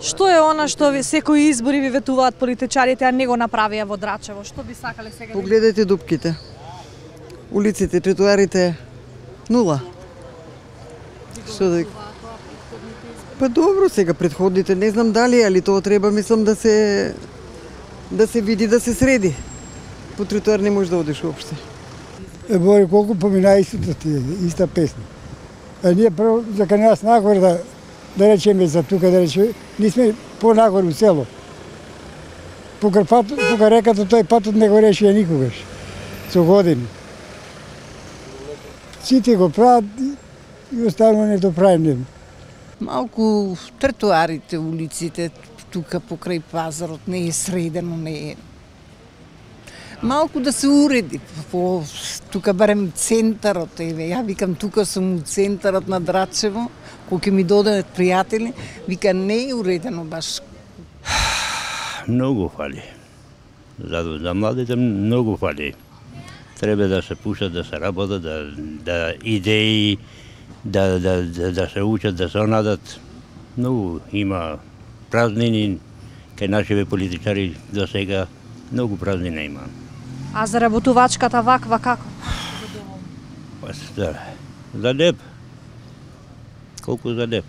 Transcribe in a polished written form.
Што е она што ви секои избори ви ветуваат политичарите, а не го направија во Драчево? Што би сакале сега? Погледайте дупките. Улиците, тротоарите, нула. Што да... Па добро, сега претходните не знам дали, али тоа треба, мислам, да се види, да се среди. По тротоар не може да одиш уопште. Бори, колку помина истото ти, иста песна. А ние прво, за кај нас нагоре да речеме за тука, да речеме, ние сме понагоре у село. Покрај реката тој патот не го решија никогаш, со години. Сите го прават и останува не до правим. Малку тротоарите, улиците, тука покрај пазарот не е средено, не е. Малку да се уреди, тука барем центарот, ја викам тука сум у центарот на Драчево, кога ќе ми додадат пријатели, вика не е уредено баш. Многу фали. За младите многу фали. Треба да се пушат, да се работат, да идеи, да се учат, да се надат. Многу има празнини, кај нашите политичари до сега многу празнина има. А заработувачката ваква како? За леп. Колку за леп.